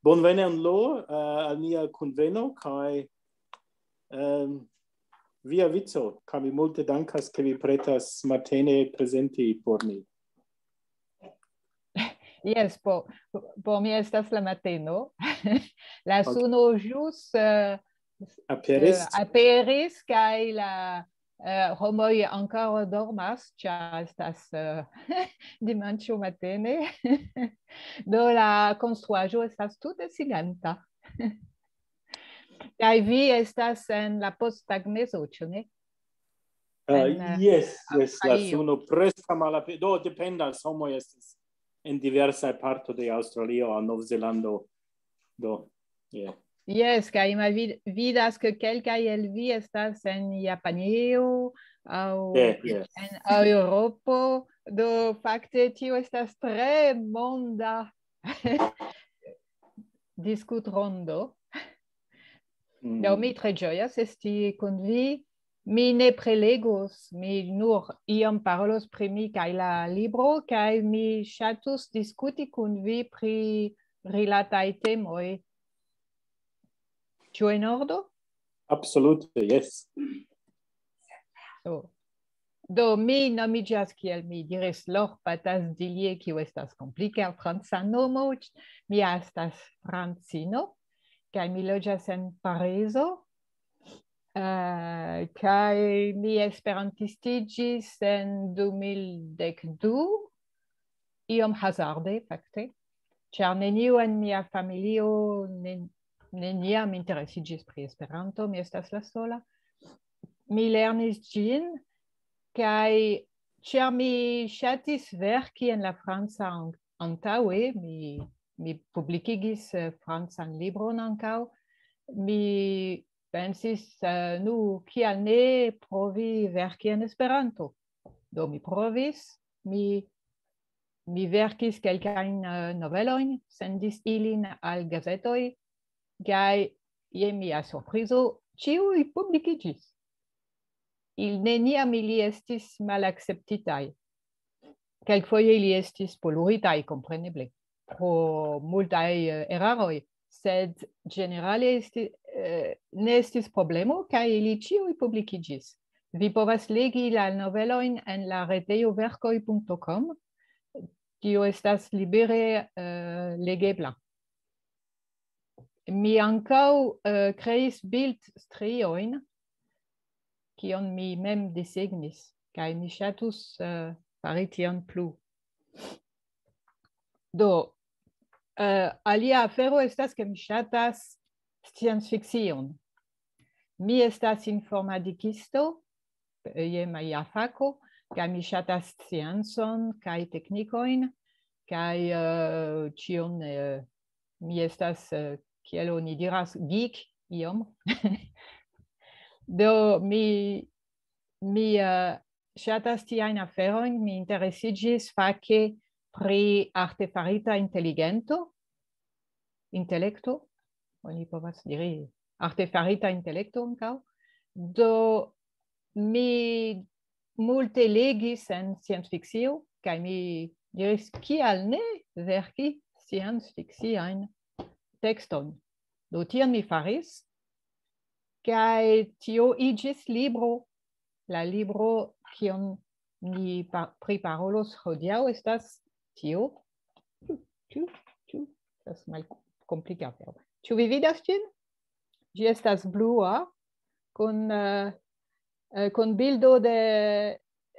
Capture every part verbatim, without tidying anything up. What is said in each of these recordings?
Bonvenon, Lo, eh, al nia kunveno, kaj, em, via vico, kaj mi multe dankas, ke vi pretas matene prezenti por ni. Jes, por, por mi estas la mateno. La suno ĵus, eh, Aperis? eh, aperis, kaj la, eh, homoj ankoraŭ dormas, ĉar estas, eh, dimanĉo matene. Do la konstruaĵo estas tute silenta. Kaj vi estas en la posttagmezo, ĉu ne? Ah, en, eh, jes, jes, la Aŭstralio. Suno preskaŭ malape-, do dependas, homoj estas en diversaj parto de Aŭstralio aŭ Novzelando. Do, yeah. Jes, kaj mi vid-, vidas, ke kelkaj el vi estas en Japanio aŭ Yeah, yeah. en Eŭropo. Do fakte tio estas tre monda diskutrondo. Mm. Do mi tre ĝojas esti kun vi. Mi ne prelegos, mi nur iom parolos pri mi kaj la libro, kaj mi ŝatus diskuti kun vi pri rilataj temoj. Ĉu en ordo? Absolute, yes. Do, do mi nomiĝas, kiel mi diris, Lor Patas Dilie, kiu estas komplika franca nomo. Mi estas francino, kaj mi loĝas en Parizo. Eh, kaj mi esperantistiĝis en du mil dek du, iom hazarde, fakte, ĉar neniu en mia familio ne-, neniam interesiĝis pri Esperanto, mi estas la sola. Mi lernis ĝin, kaj ĉar mi ŝatis verki en la franca an-, antaŭe, mi, mi publikigis, eh, francan libron ankaŭ, mi pensis, eh, nu, kial ne provi verki en Esperanto? Do mi provis, mi, mi verkis kelkajn, eh, novelojn, sendis ilin al gazetoj, kaj je mia surprizo, ĉiuj publikiĝis. Il-, neniam ili estis malakceptitaj. Kelkfoje ili estis poluritaj, kompreneble, pro multaj, eh, eraroj, sed ĝenerale esti-, eh, ne estis problemo, kaj ili ĉiuj publikiĝis. Vi povas legi la novelojn en la retejo verkoj punto com. Tio estas libere, eh, legebla. Mi ankaŭ, eh, kreis bildstriojn, kion mi mem desegnis, kaj mi ŝatus, eh, fari tion plu. Do, eh, alia afero estas, ke mi ŝatas sciencfikcion. Mi estas informatikisto, eh, je mia fako, kaj mi ŝatas sciencon kaj teknikojn, kaj, eh, ĉion, eh, mi estas, eh, kiel oni diras, geek iom. Do, mi, mi, eh, ŝatas tiajn aferojn, mi interesiĝis fake pri artefarita inteligento, intelekto, oni povas diri artefarita intelekto ankaŭ. Do, mi multe legis en sciencfikcio, kaj mi diris, kial ne verki sciencfikciajn tekstojn? Do, tion mi faris, kaj tio iĝis libro. La libro, kion ni pa-, priparolos hodiaŭ, estas tio. Ĉu, ĉu, ĉu? Estas malkomplika afero. Ĉu vi vidas ĝin? Ĝi estas blua, kun, eh, eh, kun bildo de,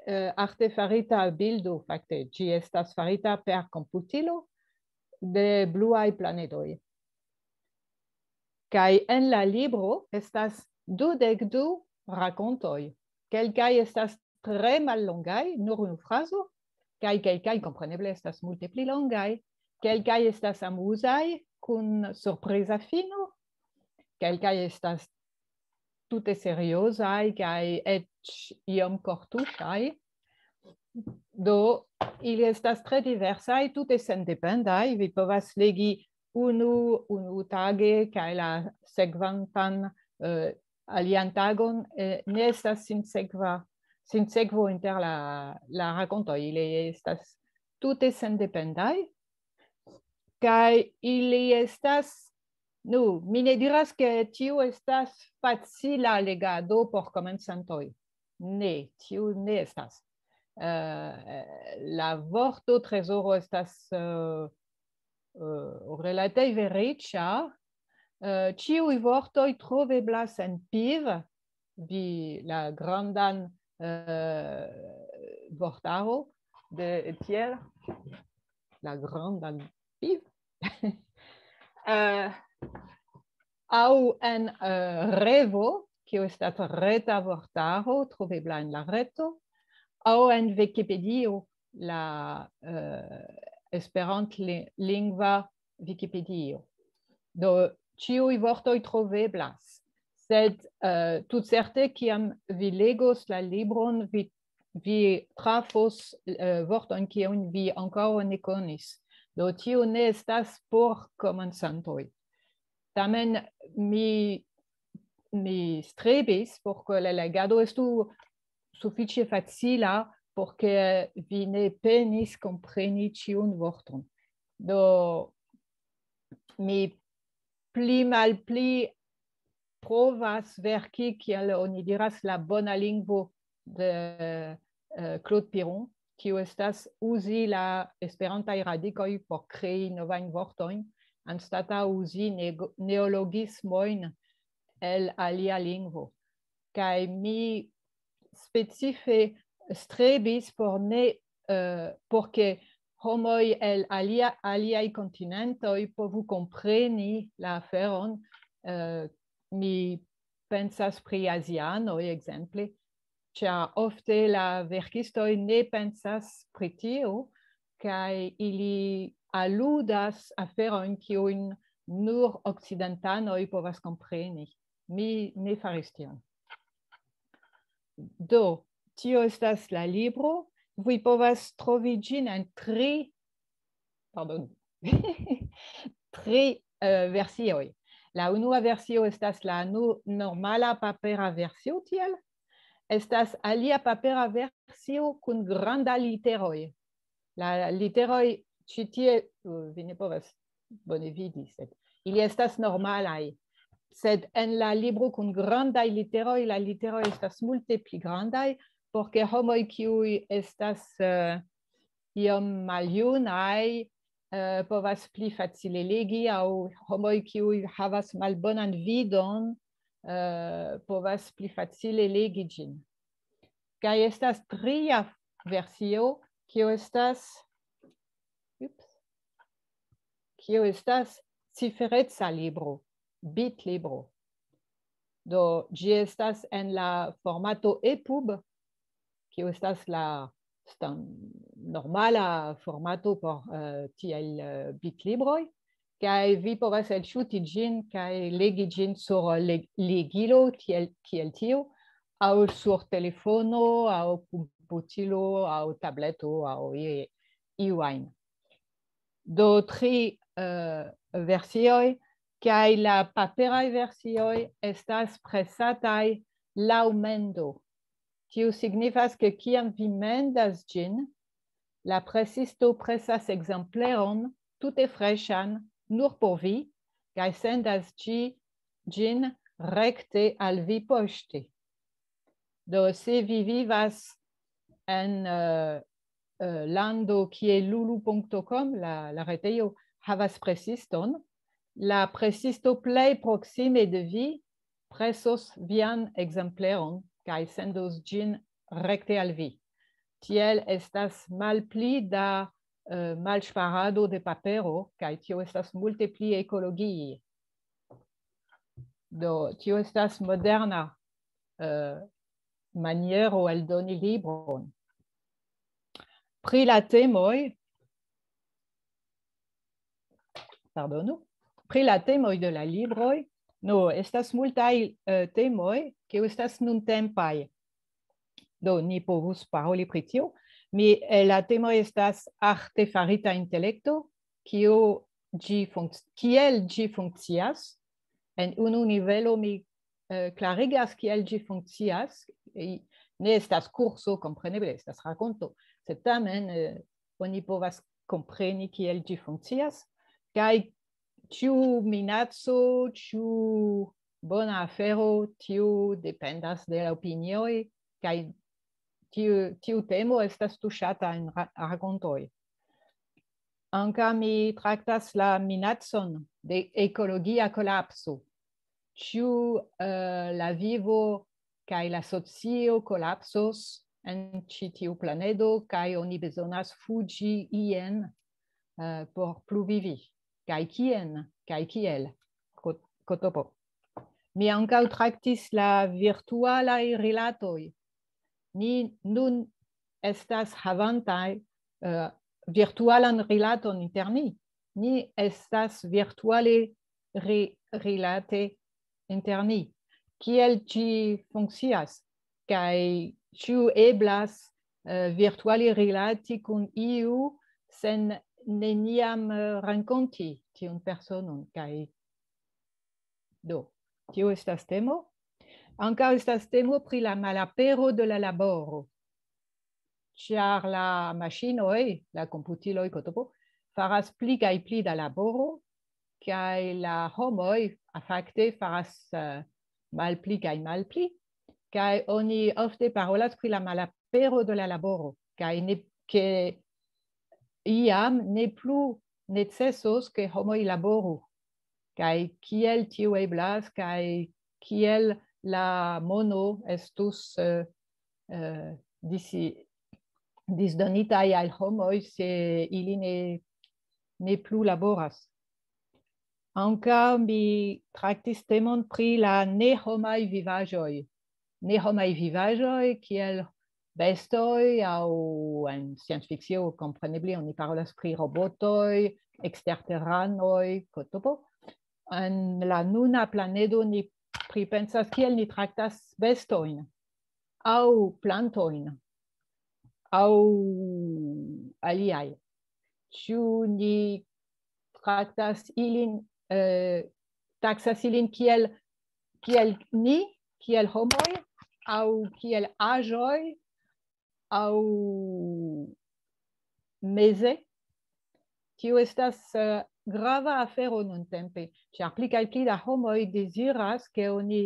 eh, artefarita bildo, fakte. Ĝi estas farita per komputilo de bluaj planedoj. Kaj en la libro estas dudek du rakontoj. Kelkaj estas tre mallongaj, nur unu frazo, kaj kelkaj, kompreneble, estas multe pli longaj. Kelkaj estas amuzaj, kun surpriza fino. Kelkaj estas tute seriozaj kaj eĉ iom kortuŝaj. Do, ili estas tre diversaj, tute sendependaj. Vi povas legi unu, unu tage, kaj la sekvantan, eh, alian tagon, eh, ne estas sinsekva, sinsekvo inter la, la rakontoj. Ili estas tute sendependaj. Kaj ili estas, nu, mi ne diras, ke tiu estas facila legado por komencantoj. Ne, tiu ne estas. Eh, la vorto trezoro estas, eh, eh, relative riĉa. Eh, ĉiuj vortoj troveblas en piv, vi la grandan, eh, vortaro de Etiel, la grandan piv. Eh, aŭ en, eh, Revo, kio estas reta vortaro trovebla en la reto, aŭ en Vikipedio, la, eh, esperantlingva Vikipedio. Do, ĉiuj vortoj troveblas, sed, eh, tutcerte, kiam vi legos la libron, vi, vi trafos, eh, vortojn, kiujn vi ankoraŭ ne konis. Do, tio ne estas por komencantoj. Tamen mi, mi strebis por ke la legado estu sufiĉe facila, por ke vi ne penis kompreni ĉiun vorton. Do, mi pli malpli provas verki, kiel oni diras, la bona lingvo de, eh, Claude Piron, kiu estas uzi la esperantaj radikoj por krei novajn vortojn, anstataŭ uzi nego-, neologismojn el alia lingvo. Kaj mi specife strebis por ne, eh, por ke homoj el alia, aliaj kontinentoj povu kompreni la aferon. Eh, mi pensas pri azianoj, ekzemple, ĉar ofte la verkistoj ne pensas pri tio, kaj ili aludas aferojn, kiujn nur okcidentanoj povas kompreni. Mi ne faris tion. Do, tio estas la libro. Vi povas trovi ĝin en tri, pardon, tri, eh, versioj. La unua versio estas la nu-, normala papera versio, tiel. Estas alia papera versio kun granda literoj. La literoj ĉi tie, eh, vi ne povas bone vidi, sed ili estas normalaj. Sed en la libro kun grandaj literoj, la literoj estas multe pli grandaj, por ke homoj, kiuj estas, eh, iom maljunaj, eh, povas pli facile legi, aŭ homoj, kiuj havas malbonan vidon, eh, povas pli facile legi ĝin. Kaj estas tria versio, kio estas, ups, kio estas cifereca libro, bitlibro. Do, ĝi estas en la formato epub, kio estas la stan-, normala formato por, eh, tiaj, eh, bitlibroj, kaj vi povas elŝuti ĝin kaj legi ĝin sur le-, legilo, tiel, kiel tiu, aŭ sur telefono, aŭ komputilo, aŭ tableto, aŭ i-, iu ajn. Do, tri, eh, versioj, kaj la paperaj versioj estas presataj laŭ mendo. Tio signifas, ke kiam vi mendas ĝin, la presisto presas ekzempleron tute freŝan nur por vi, kaj sendas ĝi-, ĝin rekte al vi poŝte. Do, se vi vivas en, eh, eh, lando kie lulu punkto com, la, la retejo, havas presiston, la presisto plej proksime de vi presos vian ekzempleron kaj sendos ĝin rekte al vi. Tiel estas malpli da, eh, malŝparado de papero, kaj tio estas multe pli ekologie. Do, tio estas moderna, eh, maniero eldoni libron. Pri la temoj, pardonu, pri la temoj de la libroj, no, estas multaj, eh, temoj, kiuj estas nuntempaj. Do, ni povus paroli pri tio. Mi, eh, la temoj estas arte farita intelekto, kio ĝi funkc-, kiel ĝi funkcias. En unu nivelo mi, eh, klarigas, kiel ĝi funkcias. I-, ne estas kurso, kompreneble, estas rakonto, sed tamen, eh, oni povas kompreni, kiel ĝi funkcias. Kaj ĉu minaco, ĉu bona afero, tio dependas de la opinioj, kaj tiu, tiu temo estas tuŝata en ra-, rakontoj. Ankaŭ mi traktas la minacon de ekologia kolapso. Ĉu, eh, la vivo kaj la socio kolapsos en ĉi tiu planedo, kaj oni bezonas fuĝi ien, eh, por pluvivi? Kaj kien? Kaj kiel? Kot-, Kotopo. Mi ankaŭ traktis la virtualaj rilatoj. Ni nun estas havantaj, eh, virtualan rilaton inter ni. Ni estas virtuale ri-, rilate inter ni. Kiel ĝi funkcias? Kaj ĉu eblas, eh, virtuale rilati kun iu sen neniam, eh, renkonti tiun personon? Kaj do, tio estas temo. Ankaŭ estas temo pri la malapero de la laboro. Ĉar la maŝinoj, la komputiloj, Kotopo, faras pli kaj pli da laboro, kaj la homoj, a, fakte faras, eh, malpli kaj malpli, kaj oni ofte parolas pri la malapero de la laboro, kaj ne, ke iam ne plu necesos, ke homoj laboru, kaj kiel tio eblas, kaj kiel la mono estus, eh, eh, disi-, disdonitaj al homoj, se ili ne, ne plu laboras. Ankaŭ mi traktis temon pri la nehomaj vivaĵoj. Nehomaj vivaĵoj kiel bestoj aŭ en sciencfikcio, kompreneble, oni parolas pri robotoj, eksterteranoj, Kotopo. En la nuna planedo ni pripensas, kiel ni traktas bestojn aŭ plantojn aŭ aliaj. Ĉu ni traktas ilin, eh, taksas ilin kiel, kiel ni, kiel homoj, aŭ kiel aĵoj, aŭ meze? Tio estas, eh, grava afero nuntempe, ĉar pli kaj pli da homoj deziras, ke oni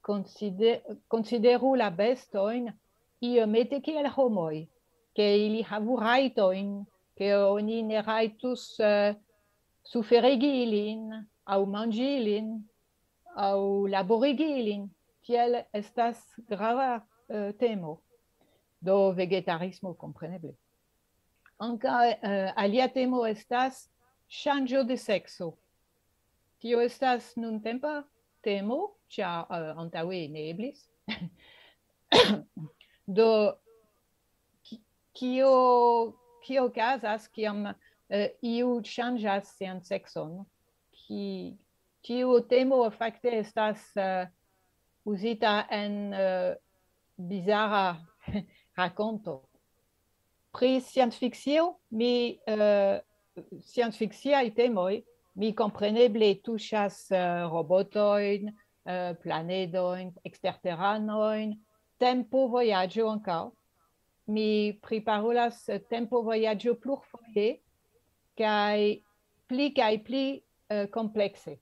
konside-, konsideru la bestojn iomete kiel homoj, ke ili havu rajtojn, ke oni ne rajtus, eh, suferigi ilin, aŭ manĝi ilin, aŭ laborigi ilin. Tiel estas grava, eh, temo. Do vegetarismo, kompreneble. Ankaŭ, eh, alia temo estas ŝanĝo de sekso. Tio estas nuntempa temo, ĉar, eh, antaŭe ne eblis. Do, ki-, kio, kio okazas, kiam, eh, iu ŝanĝas sian sekson? Ki-, tiu temo fakte estas, eh, uzita en, eh, bizara rakonto. Pri sciencfikcio, mi, eh, sciencfikciaj temoj, mi kompreneble tuŝas, eh, robotojn, eh, planedojn, eksterteranojn, tempovojaĝo ankaŭ. Mi priparolas, eh, tempovojaĝo plurfoje, kaj pli kaj pli, eh, komplekse,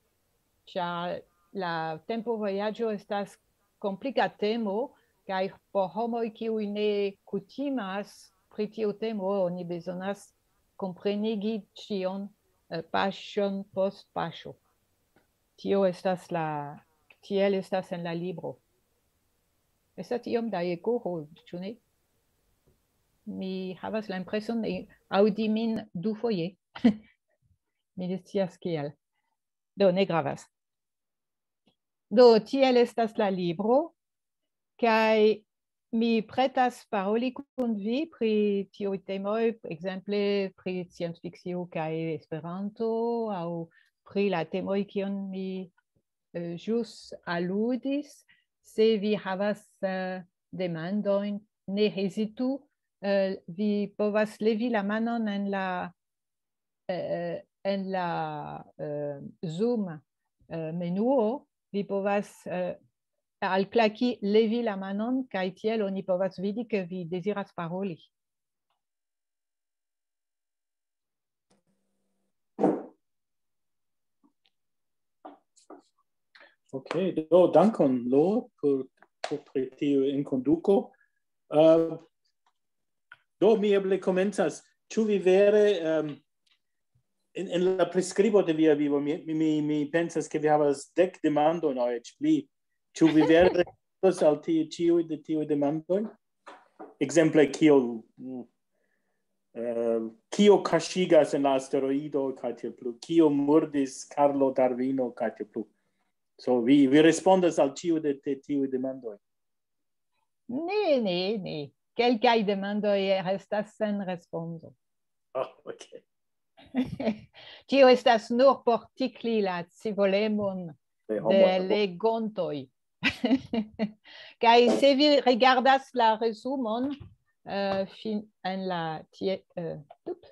ĉar la tempovojaĝo estas komplika temo, kaj por homoj, kiuj ne kutimas pri tiu temo, oni bezonas komprenigi ĉion, eh, paŝon post paŝo. Tio estas la, tiel estas en la libro. Estas iom da eko, ĉu ne? Mi havas la impreson, eh, aŭdi min dufoje. Mi ne scias kial. Do, ne gravas. Do, tiel estas la libro, kaj mi pretas paroli kun vi pri tiuj temoj, ekzemple pri sciencfikcio kaj Esperanto, aŭ pri la temoj, kion mi, eh, ĵus aludis. Se vi havas, eh, demandojn, ne hezitu, eh, vi povas levi la manon en la, eh, en la, eh, Zoom, eh, menuo, vi povas, eh, alklaki levi la manon, kaj tiel oni povas vidi, ke vi deziras paroli. Ok, do dankon, Lo, por, por pri tiu enkonduko. Uh, do mi eble komencas. Ĉu vi vere, um, en, en la priskribo de via vivo, mi, mi, mi pensas, ke vi havas dek demandojn aŭ eĉ pli. Ĉu vi vere respondos al ti-, ĉiuj de tiuj demandoj? Ekzemple, kio, mm, eh, kio kaŝigas en la asteroido, kaj tiel plu? Kio murdis Karlo Darvino, kaj tiel plu? So, vi, vi respondas al ĉiu de, de tiuj demandoj? Ne, ne, ne. Kelkaj demandoj restas sen respondo. Oh, ok. Tio estas nur por tikli la scivolemon de legontoj. Kaj se vi rigardas la resumon, eh, fin-, en la tie, eh, tup,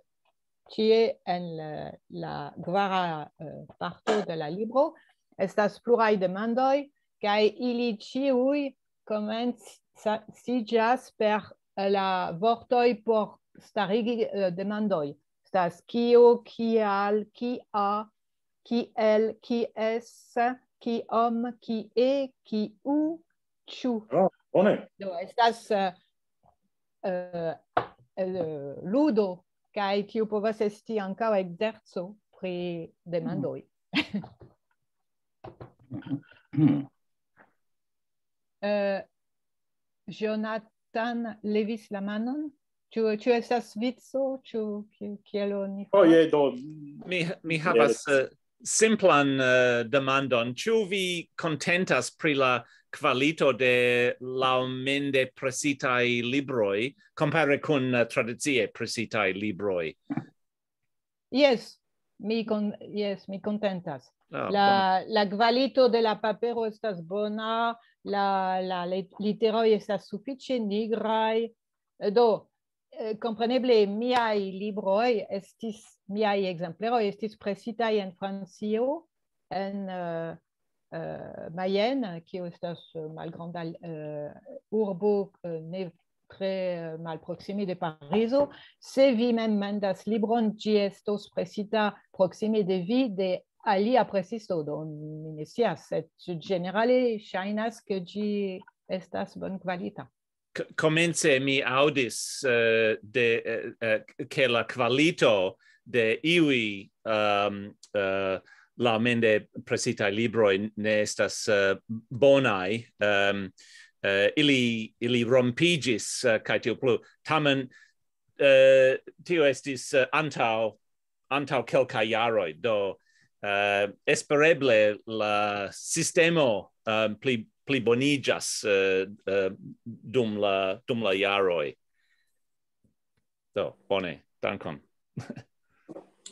tie en la, la kvara, eh, parto de la libro, estas pluraj demandoj, kaj ili ĉiuj komenciĝas per, eh, la vortoj por starigi, eh, demandoj. Estas kio, kial, kia, kiel, kies, kiom, kie, kiu, ĉu. Oh, bone. Do, estas, eh, eh, eh, ludo, kaj tio povas esti ankaŭ ekzerco pri demandoj. Eh, Jonathan levis la manon. Ĉu, ĉu estas vico? Ĉu ki-, kiel oni... Oh, faras? Je, do. Mi, mi havas, eh, simplan, eh, demandon. Ĉu vi kontentas pri la kvalito de laŭmende presitaj libroj kompare kun, eh, tradicie presitaj libroj? Jes, mi kon-, jes, mi kontentas. Ah, la, bone. La kvalito de la papero estas bona, la, la lit-, literoj estas sufiĉe nigraj. Do, eh, kompreneble miaj libroj estis, miaj ekzempleroj estis presitaj en Francio, en, eh, eh, Mayenne, kio estas, eh, malgranda, eh, urbo, eh, ne tre, eh, malproksime de Parizo. Se vi mem mandas libron, ĝi estos presita proksime de vi de alia presisto, do mi ne scias, sed ĝenerale ŝajnas, ke ĝi estas bonkvalita. K-, komence mi aŭdis, eh, de, eh, eh, ke la kvalito de iuj, ehm, eh, laŭmende presitaj libroj ne estas, eh, bonaj. Ehm, eh, ili, ili rompiĝis, eh, kaj tiel plu. Tamen, eh, tio estis, eh, antaŭ, antaŭ kelkaj jaroj. Do, eh, espereble la sistemo, eh, pli, pliboniĝas, eh, eh, dum la, dum la jaroj. Do, bone, dankon.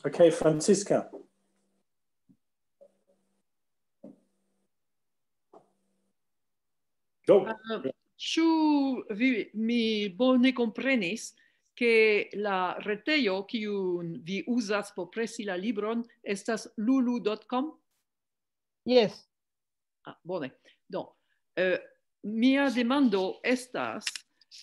Ok, Francisca. Do. Eh, ĉu vi, mi bone komprenis, ke la retejo, kiun vi uzas por presi la libron, estas lulu dot com? Jes. Ah, bone. Do, eh, mia demando estas,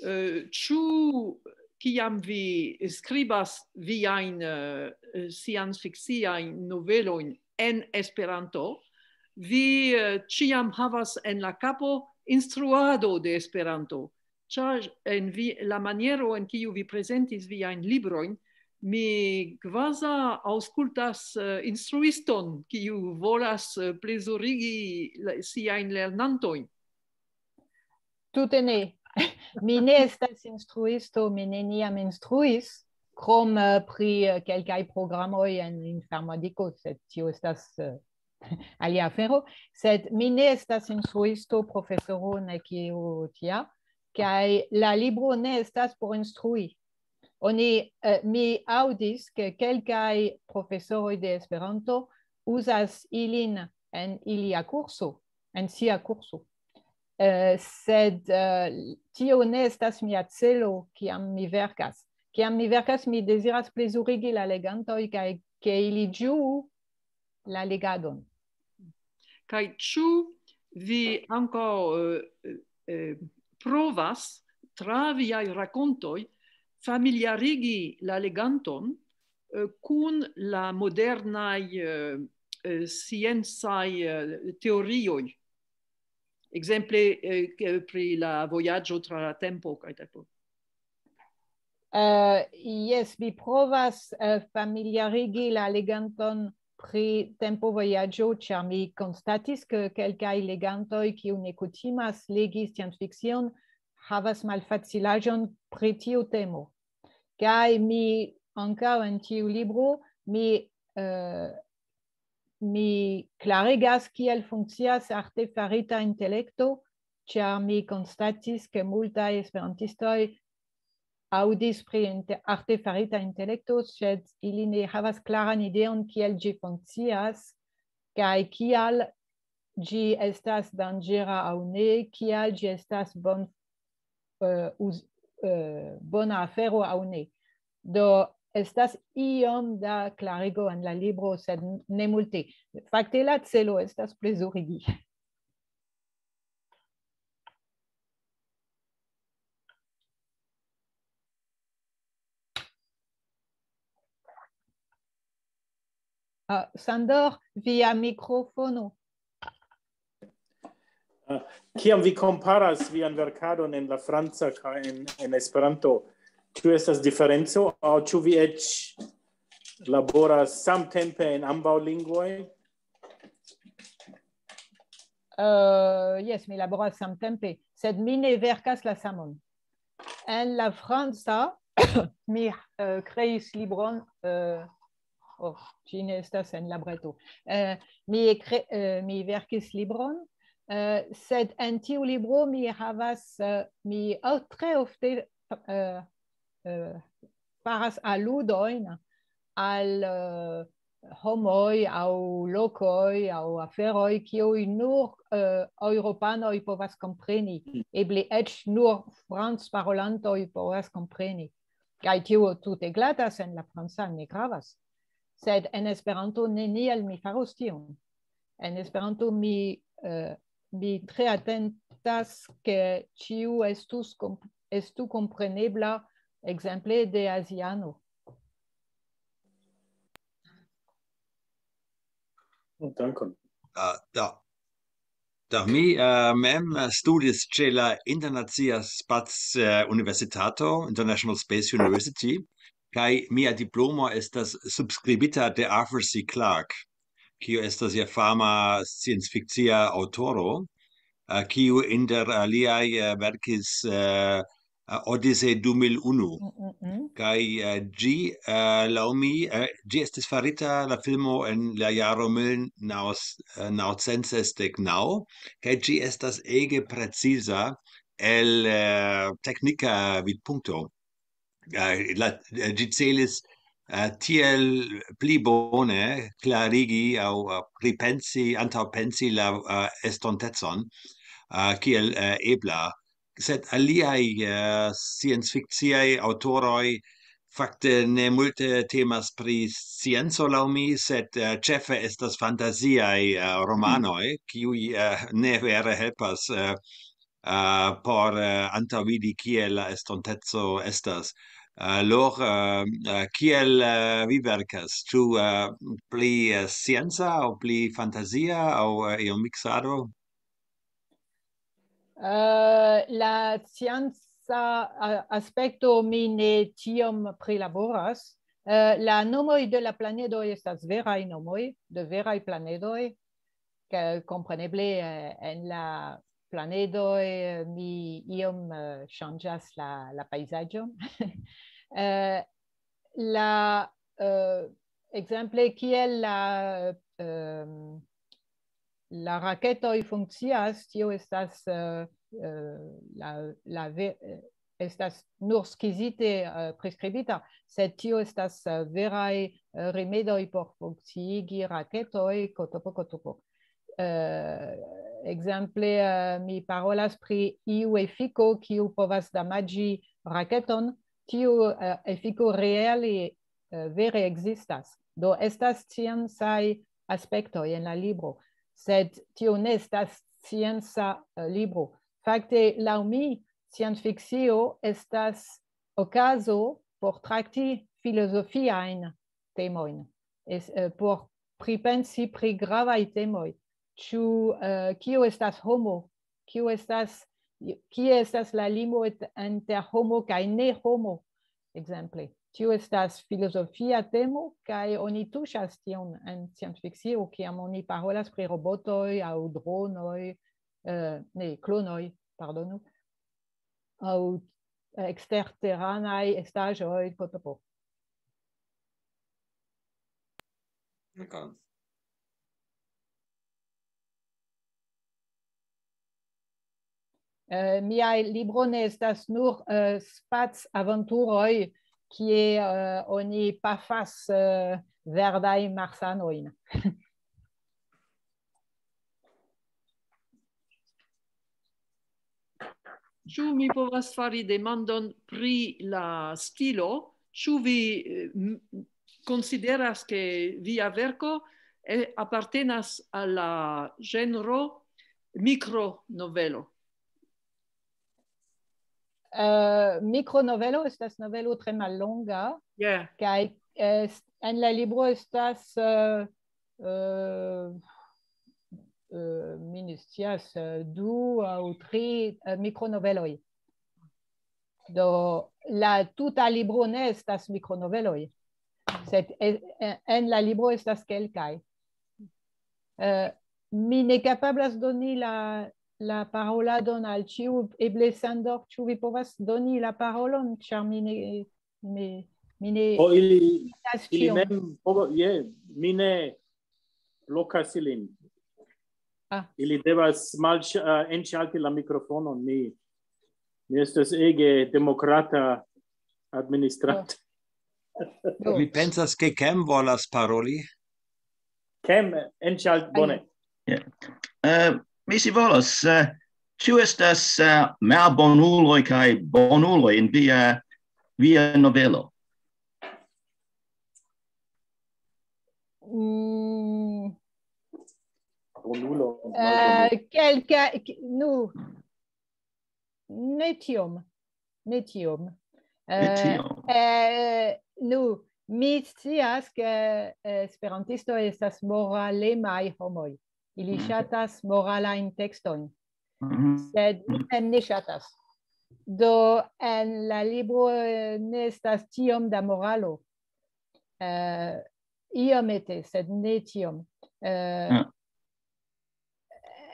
eh, ĉu kiam vi skribas viajn, eh, sciencfikciajn novelojn en Esperanto, vi, eh, ĉiam havas en la kapo instruado de Esperanto? Ĉar en vi, la maniero en kiu vi prezentis viajn librojn, mi kvazaŭ aŭskultas, eh, instruiston, kiu volas, eh, plezurigi la, siajn lernantojn. Tute ne. Mi ne estas instruisto, mi neniam instruis, krom, eh, pri, eh, kelkaj programoj en informadiko, sed tio estas, eh, alia afero. Sed mi ne estas instruisto, profesoro, nek io tia, kaj la libro ne estas por instrui. Oni, eh, mi aŭdis, ke kelkaj profesoroj de Esperanto uzas ilin en ilia kurso, en sia kurso. Eh, sed, eh, tio ne estas mia celo, kiam mi verkas. Kiam mi verkas, mi deziras plezurigi la legantoj kaj ke ili ĝuu la legadon. Kaj ĉu vi ankaŭ, eh, eh, provas tra viaj rakontoj familiarigi la leganton, eh, kun la modernaj, eh, eh, sciencaj, eh, teorioj, Ekzemple, eh, ke pri la vojaĝo tra la tempo kaj tempo. Uh, jes, mi provas uh, familiarigi la leganton pri tempo vojaĝo, ĉar mi konstatis, ke kelkaj legantoj, kiu ne kutimas legi sciencfikcion, havas malfacilaĵon pri tiu temo. Kaj mi ankaŭ en tiu libro, mi, uh, mi klarigas, kiel funkcias artefarita intelekto, ĉar mi konstatis, ke multaj esperantistoj aŭdis pri inte-, artefarita intelekto, sed ili ne havas klaran ideon, kiel ĝi funkcias, kaj kial ĝi estas danĝera aŭ ne, kial ĝi estas bon, eh, uz-, eh, bona afero aŭ ne. Do estas iom da klarigo en la libro, sed ne multe. Fakte la celo estas plezurigi. Ah, Sandor, via mikrofono. Ah, kiam vi komparas vian verkadon en la franca kaj en, en Esperanto, ĉu estas diferenco aŭ ĉu vi eĉ laboras samtempe en ambaŭ lingvoj? Uh, jes, mi laboras samtempe, sed mi ne verkas la samon. En la franca, mi uh, kreis libron, uh, oh, ĝi ne estas en la breto. Uh, mi, kre, uh, mi verkis libron, uh, sed en tiu libro mi havas, uh, mi oh, tre ofte uh, uh, faras aludojn al uh, homoj aŭ lokoj aŭ aferoj, kiuj nur uh, eŭropanoj povas kompreni, eble eĉ nur francparolantoj povas kompreni. Kaj tio tute glatas, en la franca ne gravas. Sed en Esperanto neniel mi faros tion. En Esperanto mi, uh, mi tre atentas, ke ĉiu estus, estu komprenebla, ekzemple, de aziano. Oh, dankon. Uh, da. Da mi uh, mem studis ĉe la Internacia Spac uh, Universitato, International Space University, kaj mia diplomo estas subskribita de Arthur C. Clarke, kiu estas ja fama sciencfikcia aŭtoro, uh, kiu inter aliaj uh, verkis uh, uh, Odyssey du mil unu. Mm -mm. Kaj uh, ĝi, uh, laŭ mi, uh, ĝi estis farita la filmo en la jaro mil naŭcent sesdek naŭ, kaj ĝi estas ege preciza el uh, teknika vidpunkto. Uh, la, uh, ĝi celis uh, tiel pli bone klarigi aŭ uh, pripensi, antaŭpensi la uh, estontecon uh, kiel uh, ebla. Sed aliaj uh, sciencfikciaj aŭtoroj fakte ne multe temas pri scienco laŭ mi, sed uh, ĉefe estas fantaziaj uh, romanoj, kiuj uh, ne vere helpas uh, uh, por uh, antaŭvidi, kiel la estonteco estas. Uh, Lor, uh, uh, kiel uh, vi verkas? Ĉu uh, pli uh, scienca aŭ pli fantazia aŭ uh, iom miksado? Uh, la scienca uh, aspekto mi ne tiom prilaboras. Uh, la nomoj de la planedoj estas veraj nomoj, de veraj planedoj, ke kompreneble uh, en la planedoj uh, mi iom uh, ŝanĝas la, la pejzaĝon. uh, la uh, ekzemple kiel la um, la raketoj funkcias, tio estas uh, uh, la, la ve, uh, estas nur skizite uh, priskribita, sed tio estas uh, veraj uh, rimedoj por funkciigi raketoj, kotopo, kotopo. Uh, ekzemple, uh, mi parolas pri iu efiko, kiu povas damaĝi raketon, tiu uh, efiko reale uh, vere ekzistas. Do estas sciencaj aspektoj en la libro, sed tio ne estas scienca uh, libro. Fakte, laŭ mi, sciencfikcio estas okazo por trakti filozofiajn temojn, es, uh, por pripensi pri gravaj temoj. Ĉu uh, kio estas homo, kiu estas, kie estas la limo et-, inter homo kaj ne homo, ekzemple. Tio estas filozofia temo, kaj oni tuŝas tion en sciencfikcio, kiam oni parolas pri robotoj aŭ dronoj, eh, ne, klonoj, pardonu, aŭ eksterteranaj estaĵoj, po, po, po. D'accord. Eh, miaj libro ne estas nur, eh, spac-aventuroj, kie, eh, oni pafas, eh, verdaj marsanojn. Ĉu mi povas fari demandon pri la stilo? Ĉu vi, eh, m-, konsideras, ke via verko, eh, apartenas al la ĝenro mikronovelo? Eh, mikronovelo estas novelo tre mallonga, Yeah. kaj, eh, en la libro estas, eh, eh, eh, mi ne scias, eh, du aŭ tri, eh, mikronoveloj. Do, la tuta libro ne estas mikronoveloj, sed, eh, eh, en la libro estas kelkaj. Eh, mi ne kapablas doni la, la paroladon al ĉiu, eble Sandor, ĉu vi povas doni la parolon, ĉar mi ne, mi, mi ne O ili, estas ili ĉion. mem, povo-, je, mi ne blokas ilin. Ah. Ili devas malĉ-, eh, enĉalti la mikrofonon. Mi, mi estas ege demokrata administranto. Do, Mi pensas, ke Kem volas paroli. Kem, enĉalt-, bone. Eh, mi si volas, eh, ĉu estas, eh, malbonuloj kaj bonuloj en via, via novelo? Mm, Bonulo, eh, kelka, ki-, nu, ne tiom, ne tiom. Ne Eh, tiom. eh, nu, mi scias, ke, eh, esperantistoj estas moralemaj homoj. Ili Mhm. ŝatas moralajn tekstojn, Mhm. sed mi mem ne ŝatas. Do, en la libro, eh, ne estas tiom da moralo. Eh, iomete, sed ne tiom. Eh, Ja.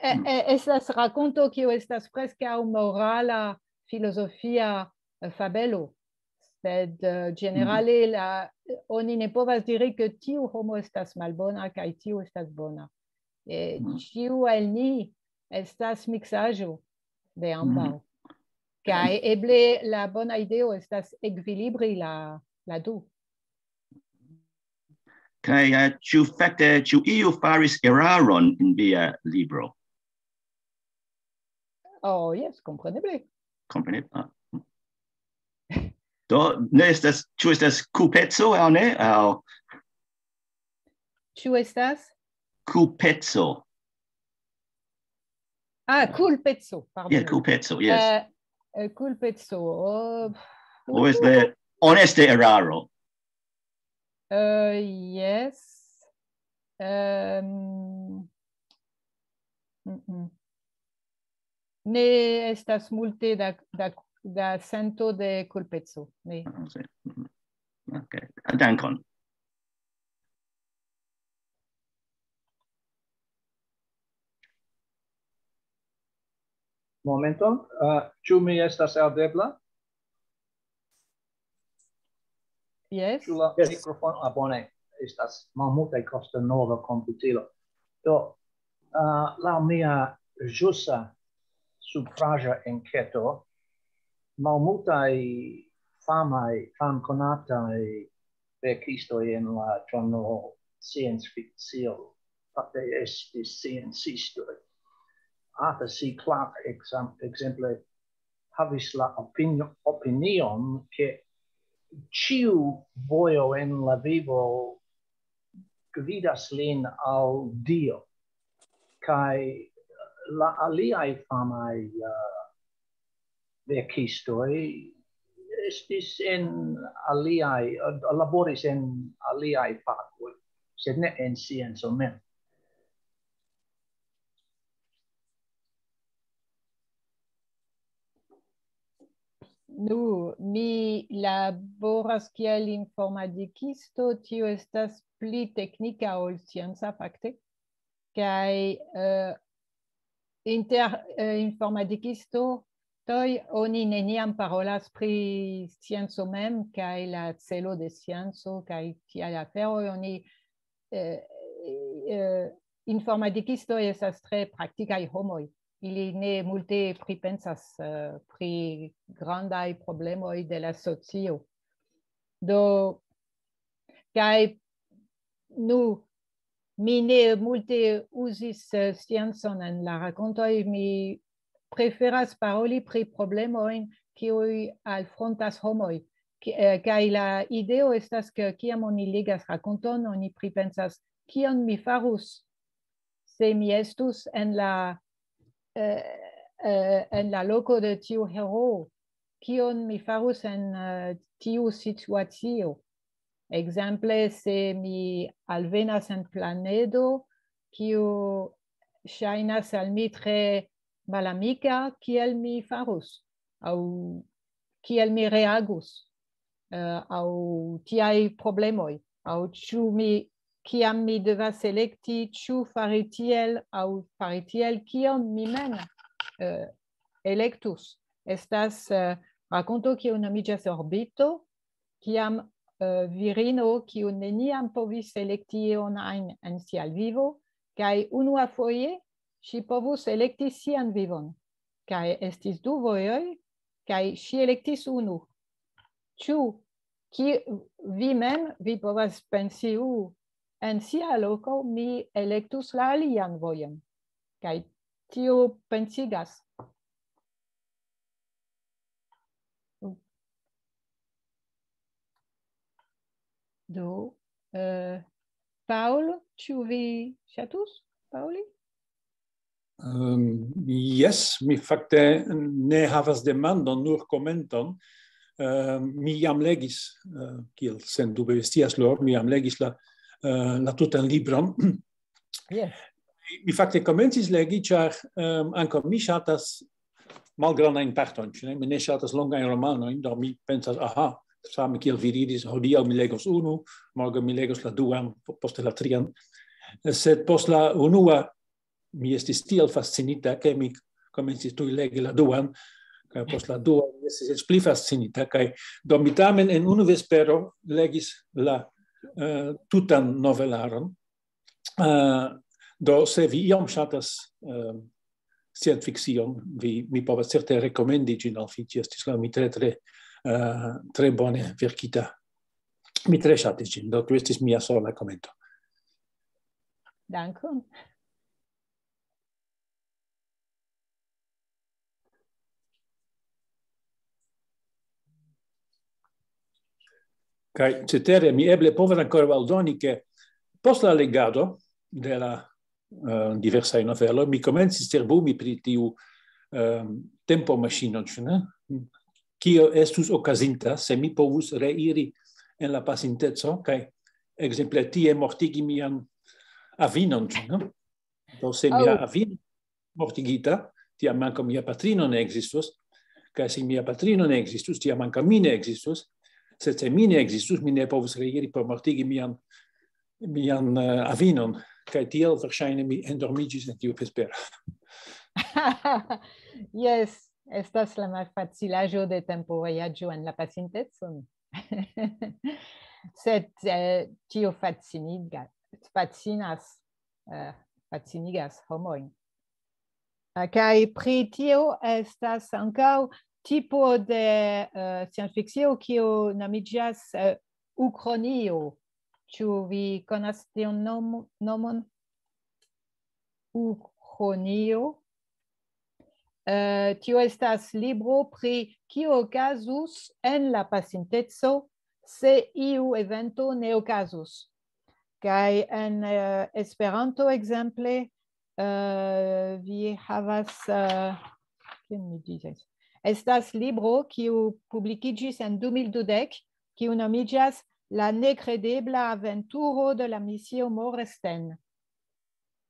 eh, Mm. eh, estas rakonto, kiu estas preskaŭ morala, filozofia, eh, fabelo. Sed, eh, ĝenerale, la, oni ne povas diri, ke tiu homo estas malbona kaj tiu estas bona. Eh, Mhm. Ĉiu el ni estas miksaĵo de ambaŭ. Kaj eble la bona ideo estas ekvilibri la, la du. Kaj, eh, ĉu fakte, ĉu iu faris eraron en via libro? Oh, jes, kompreneble. Kompreneble. Ah. Do, ne estas, ĉu estas kulpeco aŭ ne? Aŭ Ĉu estas? Kulpeco. Ah, kulpeco, pardon. Yeah, kulpeco, yes. Eh, eh, kulpeco. Oh, Or is there honeste eraro? Eh, yes. Ehm, mm, mm. Ne estas multe da, da, da sento de kulpeco. Ne. Ah, sì. Mhm. Ok. Ah, dankon. Momento, uh, ĉu mi estas aŭdebla? Yes. Ĉu la Yes. Mikrofono, ah, bone, estas malmultaj kosto nova komputilo. Do, uh, laŭ mia ĵusa supraĵa enketo, malmultaj famaj, famkonataj verkistoj en la ĝenro science fiction, fakte estis sciencistoj. Arthur C. Clarke, ekzam-, ekzemple, havis la opinio-, opinion, ke ĉiu vojo en la vivo gvidas lin al Dio. Kaj la aliaj famaj, eh, verkistoj estis en aliaj, eh, laboris en aliaj fakoj, sed ne en scienco mem. Nu, mi laboras kiel informatikisto, tio estas pli teknika ol scienca fakte, kaj eh, inter eh, informatikistoj oni neniam parolas pri scienco mem kaj la celo de scienco kaj tiaj aferoj. Oni eh, eh, informatikistoj estas tre praktikaj homoj. Ili ne multe pripensas eh, pri grandaj problemoj de la socio. Do, kaj nu, mi ne multe uzis eh, sciencon en la rakontoj, mi preferas paroli pri problemojn kiuj alfrontas homoj. Ki- eh, Kaj la ideo estas, ke kiam oni legas rakonton, oni pripensas, kion mi farus se mi estus en la, eh, eh, en la loko de tiu heroo, kion mi farus en eh, tiu situacio. Ekzemple, se mi alvenas en planedo, kiu ŝajnas al mi tre malamika, kiel mi farus, aŭ kiel mi reagus, eh, aŭ tiaj problemoj, aŭ ĉu mi, kiam mi devas elekti, ĉu fari tiel aŭ fari tiel, kion mi mem eh, elektus. Estas eh, rakonto, kiu nomiĝas Orbito, kiam eh, virino, kiu neniam povis elekti ion ajn en sia vivo, kaj unua foje ŝi povus elekti sian vivon. Kaj estis du vojoj, kaj ŝi elektis unu. Ĉu ki, vi mem, vi povas pensi, "Uh, en sia loko mi elektus la alian vojon." Kaj tio pensigas. Do, eh, Paul, ĉu vi ŝatus, Pauli? Um, yes, mi fakte ne havas demandon, nur komenton. Uh, mi jam legis, uh, kiel sendube vi scias, Lor, mi jam legis la, uh, la tutan libron. Yes. Mi fakte komencis legi, ĉar um, ankaŭ mi ŝatas malgrandajn partojn, ĉu ne? Mi ne ŝatas longajn romanojn, do mi pensas, aha, same kiel vi diris, hodiaŭ mi legos unu, morgaŭ mi legos la duan, po- poste la trian. Sed post la unua mi estis tiel fascinita, ke mi komencis tuj legi la duan, kaj post la dua mi estis eĉ pli fascinita, kaj do mi tamen en unu vespero legis la uh, tutan novelaron. Uh, do se vi iom ŝatas uh, scienfikcion, vi, mi povas certe rekomendi ĝin al vi, ĝi estis laŭ mi tre, tre, uh, tre bone verkita. Mi tre ŝatis ĝin, do tu estis mia sola komento. Dankon. Kaj cetere mi eble povas ankoraŭ aldoni, ke post la legado de la uh, diversaj noveloj, mi komencis cerbumi pri tiu uh, tempomaŝino, ĉu ne? Kio estus okazinta, se mi povus reiri en la pasinteco, kaj ekzemple tie mortigi mian avinon, ĉu ne? Do se mia Aŭ- avino mortigita, tiam ankaŭ mia patrino ne ekzistus, kaj se mia patrino ne ekzistus, tiam ankaŭ mi ne ekzistus, sed se mi ne ekzistus, mi ne povus reiri por mortigi mian, mian uh, avinon, kaj tiel verŝajne mi endormiĝis en tiu vespero. Yes, estas la malfacilaĵo de tempovojaĝo en la pasintecon. Sed eh, tio fasciniga, fascinas, eh, fascinigas homojn. Eh, Kaj pri tio estas ankaŭ tipo de eh, scienfikcio, kiu nomiĝas eh, ukronio. Ĉu vi konas tiun nom- nomon? Ukronio. Eh, tio estas libro pri kio okazus en la pasinteco, se iu evento ne okazus. Kaj en eh, Esperanto, ekzemple, eh, vi havas, eh, kion mi diris? Estas libro, kiu publikiĝis en du mil dudek, kiu nomiĝas La nekredebla aventuro de la misio Moresten.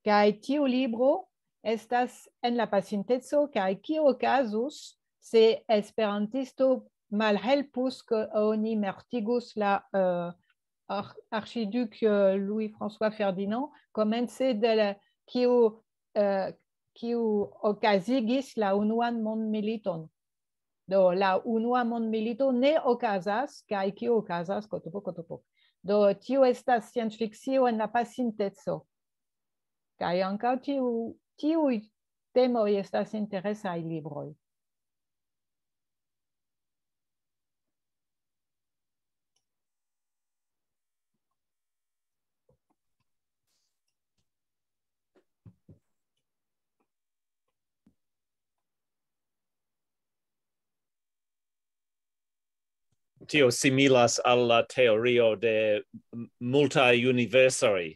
Kaj tiu libro estas en la pasinteco, kaj kio okazus, se esperantisto malhelpus, ke oni mortigus la, eh, ar-, archiduc, eh, Louis-François Ferdinand, komence de la, kiu, eh, kiu okazigis la unuan mondmiliton. Do, la unua mondmilito ne okazas, kaj kio okazas? Kotopo, kotopo. Do, tio estas sciencfikcio en la pasinteco. Kaj ankaŭ tiu, tiuj temoj estas interesaj libroj. Tio similas al la teorio de m-, multaj universoj.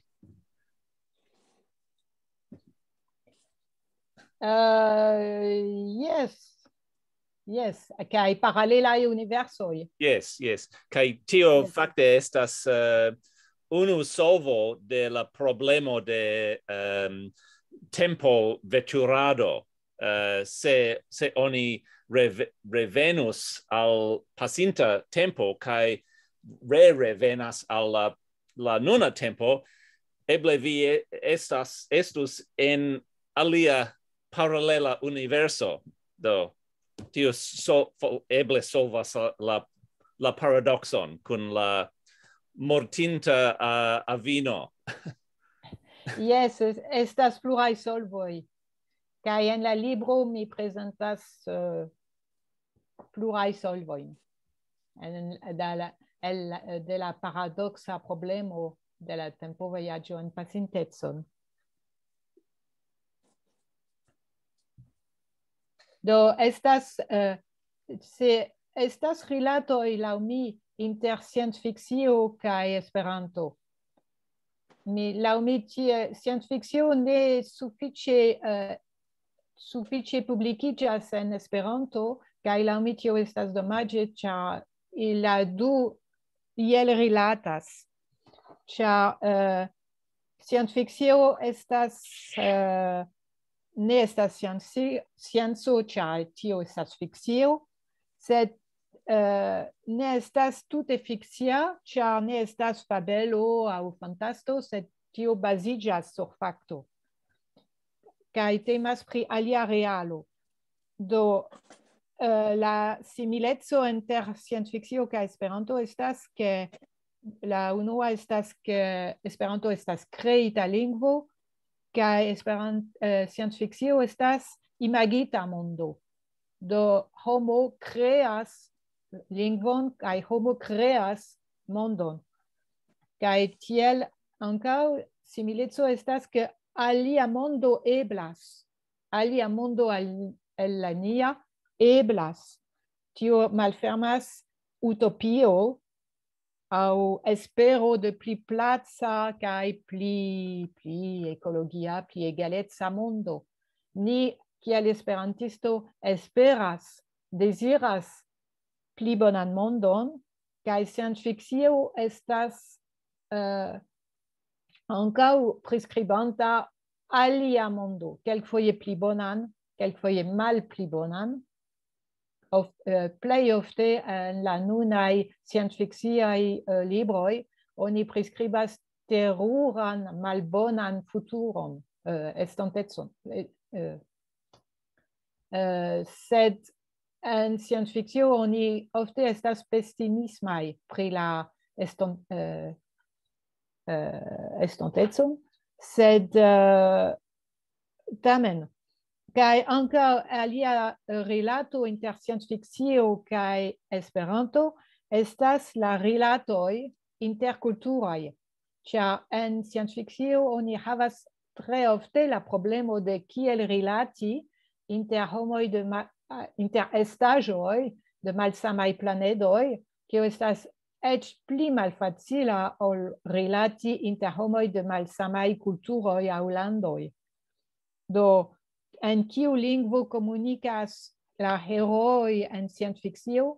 Uh, yes. Yes, kaj paralelaj universoj. Yes, yes. Kaj tio yes. Fakte estas, uh, unu solvo de la problemo de, um, tempo veturado. Uh, se, se oni reve-, revenus al pasinta tempo kaj re-revenas al la, la nuna tempo, eble vi e-, estas, estus en alia paralela universo. Do, tio so-, fo-, eble solvas la, la, la paradokson kun la mortinta, uh, avino. Yes, es-, estas pluraj solvoj. Kaj en la libro mi prezentas, uh, pluraj solvojn. En, de la, el, de la paradoksa problemo de la tempovojaĝo en pasintecon. Do, estas, eh, se estas rilatoj laŭ mi inter sciencfikcio kaj Esperanto. Mi, laŭ mi tie, sciencfikcio ne sufiĉe, eh, sufiĉe publikiĝas en Esperanto, kaj laŭ mi tio estas domaĝe, ĉar i-, la du iel rilatas. Ĉar, eh, sciencfikcio estas, eh, ne estas scienci-, scienco, ĉar tio estas fikcio, sed, eh, ne estas tute fikcia, ĉar ne estas fabelo aŭ fantasto, sed tio baziĝas sur fakto. Kaj temas pri alia realo. Do, eh, la simileco inter sciencfikcio kaj Esperanto estas, ke la unua estas, ke Esperanto estas kreita lingvo, kaj Esperan-, eh, sciencfikcio estas imagita mondo. Do, homo kreas lingvon kaj homo kreas mondon. Kaj tiel ankaŭ simileco estas, ke alia mondo eblas, alia mondo al, el la nia eblas. Tio malfermas utopio aŭ espero de pli placa kaj pli, pli ekologia, pli egaleca mondo. Ni, kiel esperantisto, esperas, deziras pli bonan mondon, kaj sciencfikcio estas, eh, ankaŭ priskribanta alia mondo, kelkfoje pli bonan, kelkfoje malpli bonan. Of-, eh, plej ofte en la nunaj sciencfikciaj, eh, libroj oni priskribas teruran, malbonan futuron, eh, estontecon. Eh, eh, eh, sed en sciencfikcio oni ofte estas pesimismaj pri la eston-, eh, eh, estontecon, sed, eh, tamen, kaj ankaŭ alia rilato inter sciencfikcio kaj Esperanto estas la rilatoj inter kulturoj, ĉar en sciencfikcio oni havas tre ofte la problemo de kiel rilati inter homoj de ma-, inter estaĵoj de malsamaj planedoj, kio estas eĉ pli malfacila ol rilati inter homoj de malsamaj kulturoj aŭ landoj. Do, en kiu lingvo komunikas la heroj en sciencfikcio?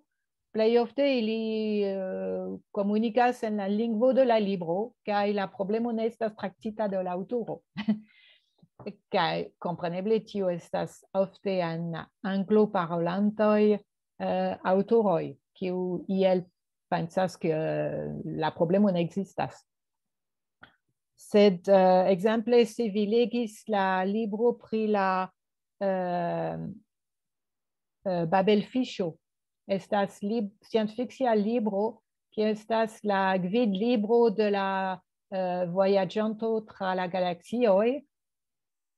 Plej ofte ili, eh, komunikas en la lingvo de la libro, kaj la problemo ne estas traktita de la aŭtoro. Kaj kompreneble tio estas ofte en angloparolantoj, eh, aŭtoroj, kiu iel pensas, ke, eh, la problemo ne ekzistas. Sed, eh, ekzemple, se vi legis la libro pri la, eh, eh, Babelfiŝo, estas lib-, sciencfikcia libro, kiu estas la gvidlibro de la, eh, vojaĝanto tra la galaksioj.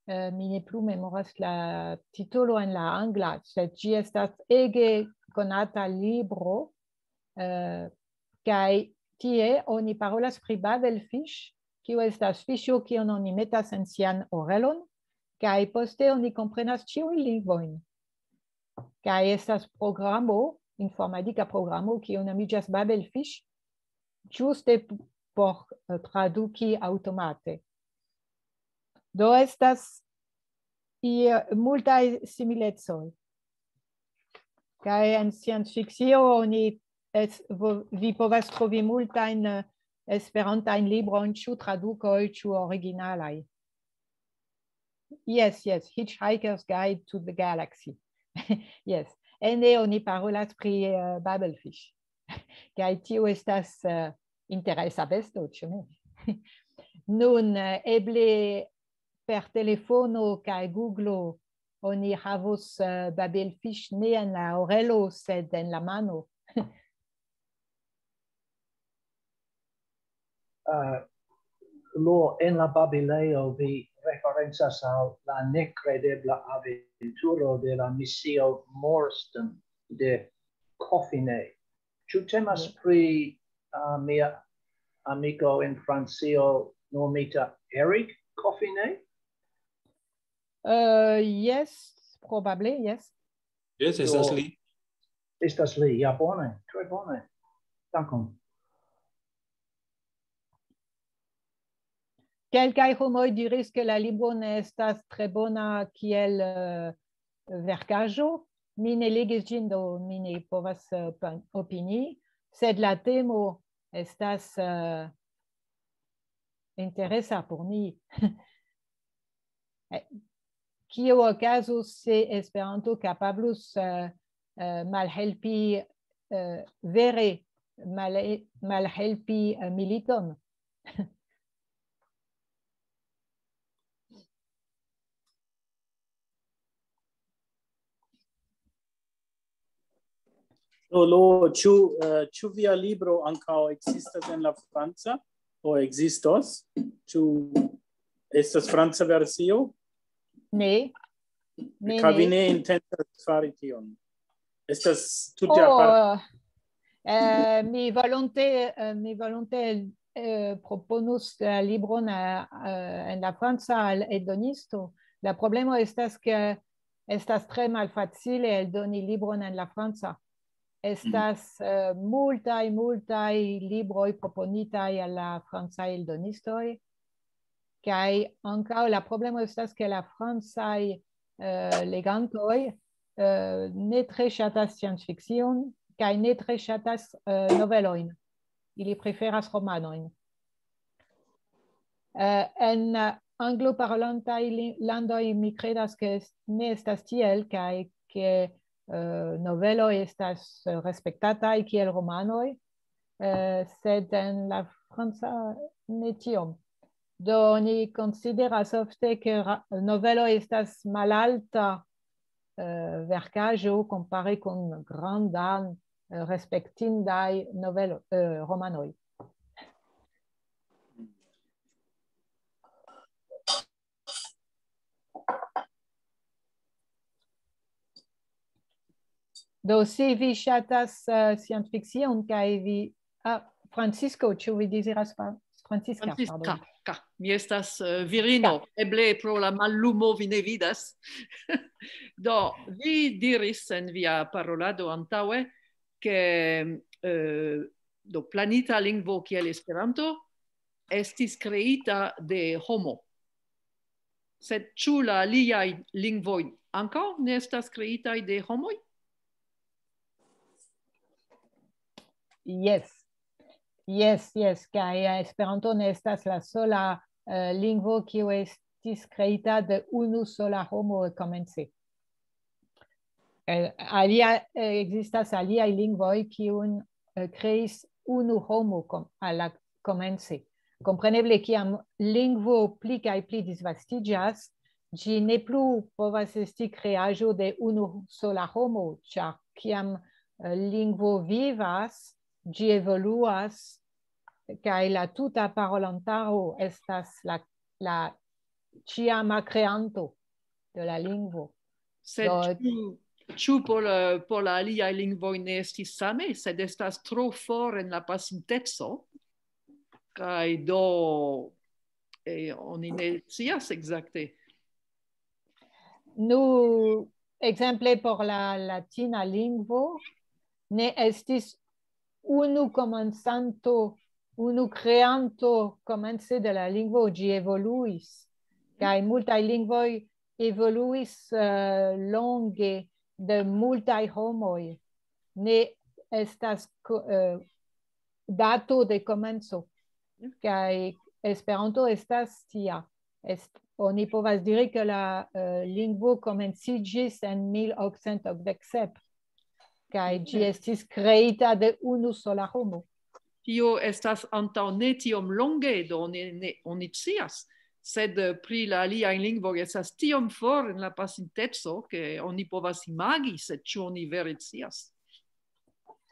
Eh, mi ne plu memoras la titolo en la angla, sed ĝi estas ege konata libro, eh, kaj tie oni parolas pri Babelfish, kiu estas fiŝo, kiun oni metas en sian orelon, kaj poste oni komprenas ĉiujn lingvojn. Kaj estas programo, informatika programo, kiu nomiĝas Babelfish, ĝuste p-, por, eh, traduki aŭtomate. Do estas i-, multaj similecoj. Kaj en sciencfikcio oni es-, vo-, vi povas trovi multajn, eh, esperantajn librojn, ĉu tradukoj, ĉu originalaj. Yes, yes, Hitchhiker's Guide to the Galaxy. Yes, ene oni parolas pri, eh, Babelfish. Kaj tio estas, eh, interesa besto, ĉu ne? Nun, eh, eble per telefono kaj Google oni havos, eh, Babelfish ne en la orelo, sed en la mano. Eh, Lo, en la babilejo vi referencas al la nekredebla aventuro de la misio Morstan de Coffine. Ĉu temas pri, eh, mia amiko en Francio nomita Eric Coffine? Eh, yes, probable, yes. Yes, estas Do- li. Estas li, ja, bone, tre bone. Dankon. Kelkaj homoj diris, ke la libro ne estas tre bona kiel, eh, verkaĵo. Mi ne legis ĝin, do mi ne povas, eh, pan-, opinii, sed la temo estas, eh, interesa por mi. Eh, kio okazus se Esperanto kapablus, eh, eh, malhelpi, eh, vere mal-, malhelpi, eh, militon? Lo, lo, ĉu, eh, ĉu via libro ankaŭ ekzistas en la franca? O ekzistos? Ĉu estas franca versio? Ne. Ne, Kaj vi ne. Ne intencas fari tion? Estas tute Oh, aparta. eh, mi volonte, eh, mi volonte, eh, proponus la libron, eh, eh, en la franca al eldonisto. La problemo estas, ke estas tre malfacile eldoni libron en la franca. Estas, eh, multaj, multaj libroj proponitaj al la francaj eldonistoj. Kaj ankaŭ la problemo estas, ke la francaj, eh, legantoj, eh, ne tre ŝatas sciencfikcion kaj ne tre ŝatas, eh, novelojn. Ili preferas romanojn. Eh, en, eh, angloparolantaj li-, landoj mi kredas, ke est-, ne estas tiel, kaj ke, eh, noveloj estas, eh, respektataj kiel romanoj, eh, sed en la franca ne tiom. Do oni konsideras ofte, ke ra-, novelo estas malalta, eh, verkaĵo kompare kun grandan, eh, respektindaj novelo-, eh, romanoj. Do, se vi ŝatas, eh, sciencfikcion kaj vi, ah, Francisco, ĉu vi deziras pa-, Francisca, Francisca, pardon. Ka, mi estas, eh, virino, eble pro la mallumo vi ne vidas. Do, vi diris en via parolado antaŭe, ke, eh, do, planita lingvo kiel Esperanto estis kreita de homo. Sed ĉu la aliaj lingvoj ankaŭ ne estas kreitaj de homoj? Yes. Yes, yes, kaj, eh, Esperanto ne estas la sola, eh, lingvo kiu est-, estis kreita de unu sola homo komence. Eh, alia, eh, ekzistas aliaj lingvoj, kiun, eh, kreis unu homo kom-, al la komence. Kompreneble, kiam lingvo pli kaj pli disvastiĝas, ĝi ne plu povas esti kreaĵo de unu sola homo, ĉar kiam, eh, lingvo vivas, ĝi evoluas, kaj la tuta parolantaro estas la, la ĉiama kreanto de la lingvo. Sed Do- ĉu, ĉu por la, por la aliaj lingvoj ne estis same, sed estas tro for en la pasinteco, kaj do, eh, oni ne scias ekzakte. Nu, ekzemple por la latina lingvo, ne estis unu komencanto, unu kreanto komence de la lingvo, ĝi evoluis. Kaj multaj lingvoj evoluis, eh, longe de multaj homoj. Ne estas ko-, eh, dato de komenco. Kaj Esperanto estas tia. Est-, oni povas diri, ke la, eh, lingvo komenciĝis en mil okcent okdek sep, kaj ĝi estis kreita de unu sola homo. Tio estas antaŭ ne tiom longe, do ne, ne, oni scias. Sed, eh, pri la aliaj lingvoj estas tiom for en la pasinteco, ke oni povas imagi, sed ĉu oni vere scias?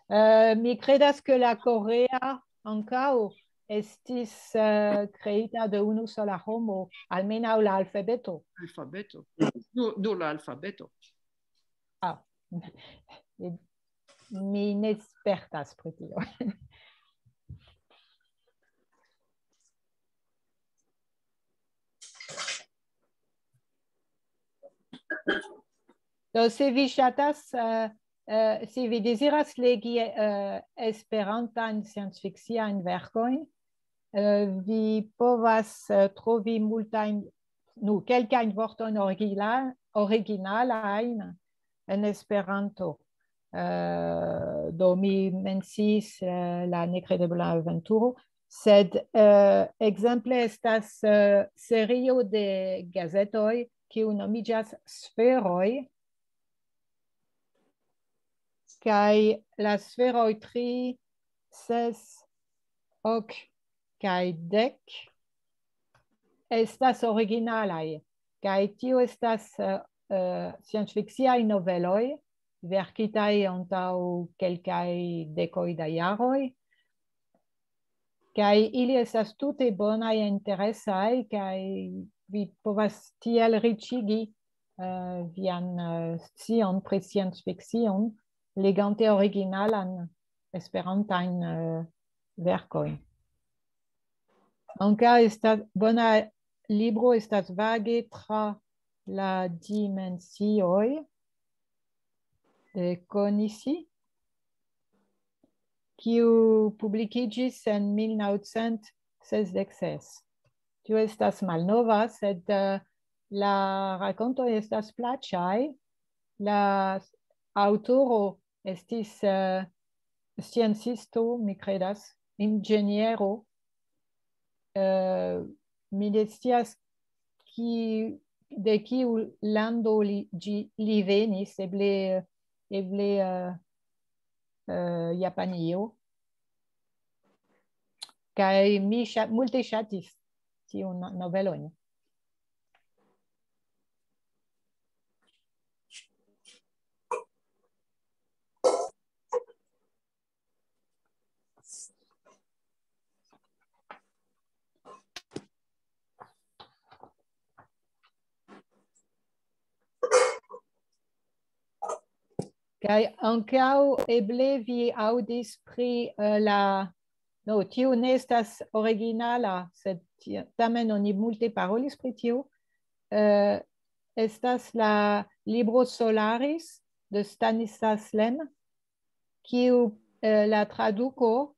Eh, mi kredas, ke la korea ankaŭ estis, eh, kreita de unu sola homo, almenaŭ la alfabeto. Alfabeto. Nur, nur la alfabeto. Ah. Mi ne spertas pri tio. Do, se vi ŝatas, eh, eh, se vi deziras legi, eh, esperantajn sciencfikciajn verkojn, eh, vi povas, eh, trovi multajn, nu, kelkajn vortojn origina-, originalajn en Esperanto. Eh, do, mi menciis, eh, la nekredebla aventuro, sed, eh, ekzemple estas, eh, serio de gazetoj, kiu nomiĝas Sferoj, kaj la sferoj tri, ses, ok kaj dek estas originalaj, kaj tio estas, eh, eh, sciencfikciaj noveloj verkitaj antaŭ kelkaj dekoj da jaroj, kaj ili estas tute bonaj, interesaj, kaj vi povas tiel riĉigi, eh, vian, eh, scion pri sciencfikcion, legante originalan esperantajn, eh, verkojn. Ankaŭ estas bona libro, estas Vage tra la dimensioj de Konisi, kiu publikiĝis en mil naŭcent sesdek ses. Tio estas malnova, sed, eh, la rakontoj estas plaĉaj. La aŭtoro estis, eh, sciencisto, mi kredas, inĝeniero. Eh, mi ne scias ki-, de kiu lando li, ĝi, li venis, eble, eble, eh, eh, Japanio. Kaj mi ŝa-, multe ŝatis tiun novelon. Kaj ankaŭ eble vi aŭdis pri, eh, la, no, tiu ne estas originala, sed ti-, tamen oni multe parolis pri tiu. Eh, estas la libro Solaris de Stanislas Lem, kiu, eh, la traduko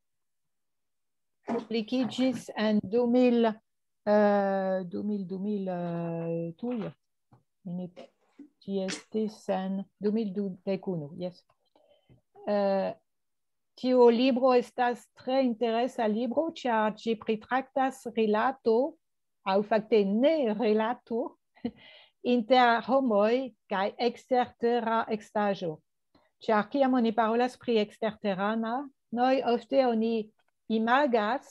publikiĝis en du mil, eh, du mil, du mil, eh, tuj. Mi ne, ĝi estis en du mil dek unu, jes. Eh, tiu libro estas tre interesa libro, ĉar ĝi pritraktas rilato aŭ fakte ne rilato inter homoj kaj ekstertera estaĵo. Ĉar kiam oni parolas pri eksterteranoj, ofte oni imagas,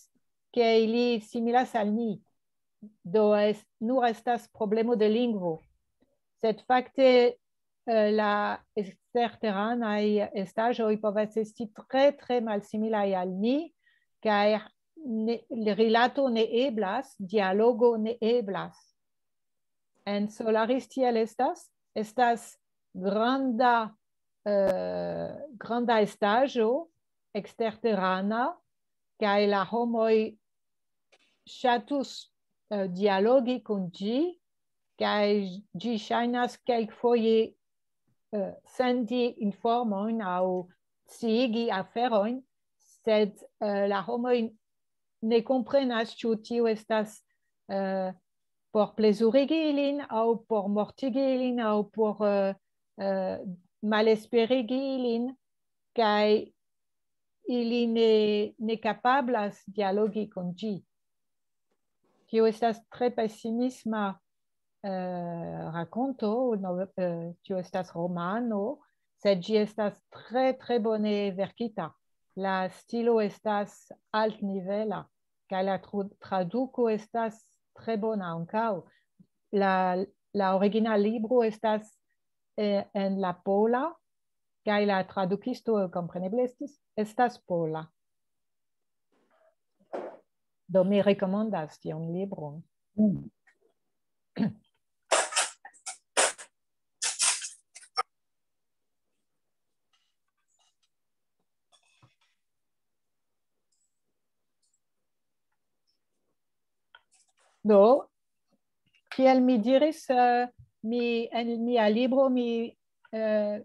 ke ili similas al ni. Do es-, nur estas problemo de lingvo. Sed fakte, eh, la eksterteranaj estaĵoj povas esti tre, tre malsimilaj al ni, kaj ne, rilato ne eblas, dialogo ne eblas. En Solaris tiel estas, estas granda, eh, granda estaĵo eksterterana, kaj la homoj ŝatus, eh, dialogi kun ĝi, kaj ĝi ŝajnas kelkfoje, eh, sendi informojn aŭ sciigi aferojn, sed, eh, la homoj ne komprenas, ĉu tio estas, eh, por plezurigi ilin aŭ por mortigi ilin aŭ por, eh, eh, malesperigi ilin, kaj ili ne, ne kapablas dialogi kun ĝi. Tio estas tre pesimisma, eh, rakonto, no, eh, tio estas romano, sed ĝi estas tre, tre bone verkita. La stilo estas altnivela, kaj la tru-, traduko estas tre bona ankaŭ. La, la original libro estas, eh, en la pola, kaj la tradukisto, kompreneble, estis, estas pola. Do mi rekomandas tiun libron. Mm. Do, kiel mi diris, eh, mi, en mia libro mi, eh,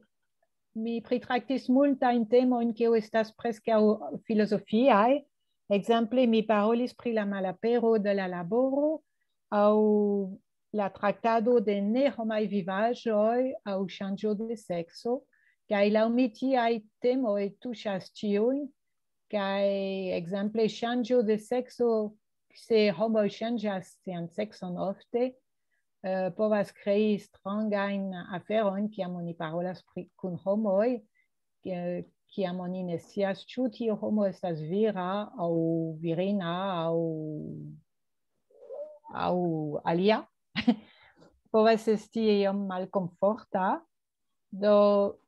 mi pritraktis multajn temojn, kiuj estas preskaŭ filozofiaj. Ekzemple, mi parolis pri la malapero de la laboro aŭ la traktado de nehomaj vivaĵoj aŭ ŝanĝo de sekso, kaj laŭ mi tiaj temoj tuŝas ĉiujn, kaj ekzemple ŝanĝo de sekso, se homoj ŝanĝas sian sekson ofte, eh, povas krei strangajn aferojn, kiam oni parolas pri, kun homoj, eh, kiam oni ne scias, ĉu tiu homo estas vira aŭ virina aŭ, aŭ alia. Povas esti iom malkomforta. Do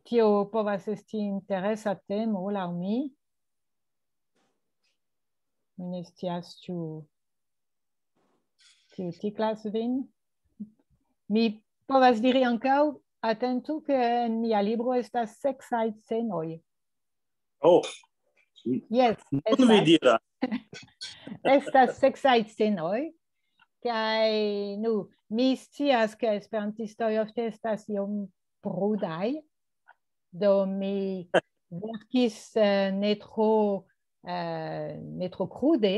tio povas esti interesa temo laŭ mi. Mi ne scias, ĉu tio tiklas vin. Mi povas diri ankaŭ, atentu, ke en mia libro estas seksaj scenoj. Oh, Jes, nun vi estas, diras. Estas seksaj scenoj, kaj, nu, mi scias, ke esperantistoj ofte estas iom prudaj, do mi verkis, eh, ne tro, eh, ne tro krude,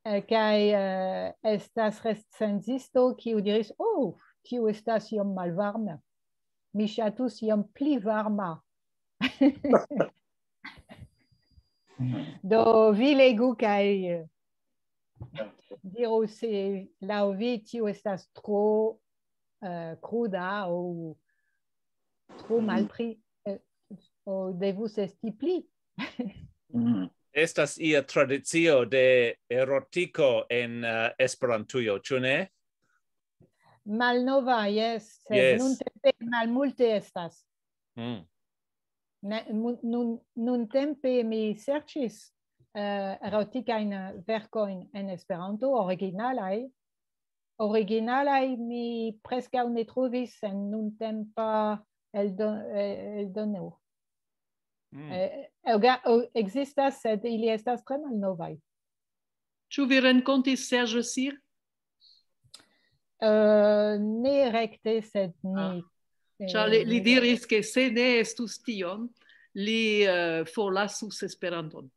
eh, kaj, eh, estas recenzisto, kiu diris: "Oh, tiu estas iom malvarma. Mi ŝatus iom pli varma." Do vi legu kaj, eh, diru, se laŭ vi tio estas tro, eh, kruda aŭ tro malpli, eh, aŭ devus esti pli. Mm. Estas ia tradicio de erotiko en, eh, Esperantujo, ĉu ne? Malnova, jes, sed Jes. nuntempe malmulte estas. Mm. Ne, mu-, nun, nuntempe mi serĉis, eh, erotikajn verkojn en Esperanto, originalaj. Originalaj mi preskaŭ ne trovis en nuntempa eldo-, eh, eldono. Mm. Eh, ega-, o-, ekzistas, sed ili estas tre malnovaj. Ĉu vi renkontis Serge Sir? Eh, ne rekte, sed ni, Ah. Ĉar li, eh, li ni diris, ke se ne estus tion, li, eh, forlasus Esperanton.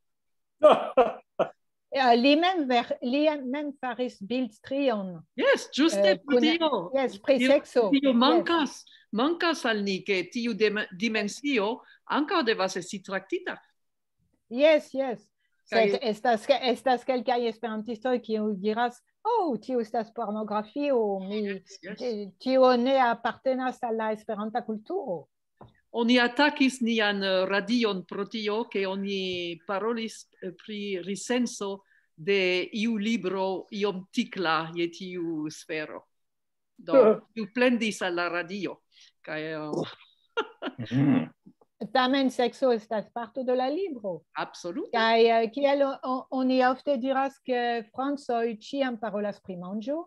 Eh, li mem ver-, li mem faris bildstrion. Jes, ĝuste Eh, pri kun, tio. jes, pri Pri sekso. Tio Jes. mankas, mankas al ni, ke tiu dem-, dimensio ankaŭ devas esti traktita. Jes, jes. Sed estas, ke- estas kelkaj esperantistoj, kiuj diras, "Oh, tio estas pornografio, mi, Yes, yes. ti- tio ne apartenas al la esperanta kulturo." Oni atakis nian eh, radion pro tio, ke oni parolis eh, pri resenso de iu libro iom tikla je tiu sfero. Do, iu plendis al la radio. Kaj eh, Mhm. Tamen sekso estas parto de la libro. absolute. Kaj eh, kiel o- o- oni ofte diras, ke francoj ĉiam parolas pri manĝo,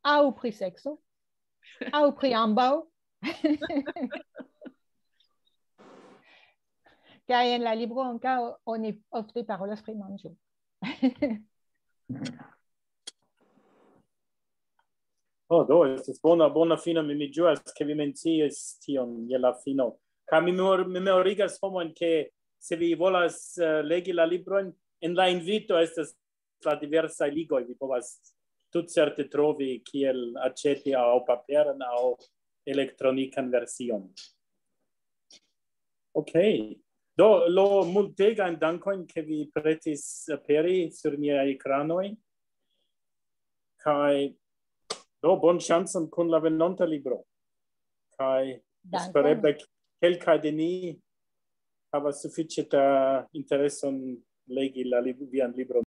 aŭ pri sekso, aŭ pri ambaŭ. Kaj en la libro ankaŭ oni ofte parolas pri manĝo. Oh, do, estas bona, bona fino, mi, mi ĝuas, ke vi menciis tion je la fino. Kaj mi memor- memorigas homojn, ke se vi volas eh, legi la librojn, en la invito estas la diversaj ligoj, vi povas tutcerte trovi kiel aĉeti aŭ paperan aŭ elektronikan version. Ok. Do, Lo, multegajn dankojn, ke vi pretis aperi sur niaj ekranoj. Kaj do, bon ŝancon kun la venonta libro. Kaj Dankon. espereble kelkaj de ni havas sufiĉe da intereson legi la lib- vian libron.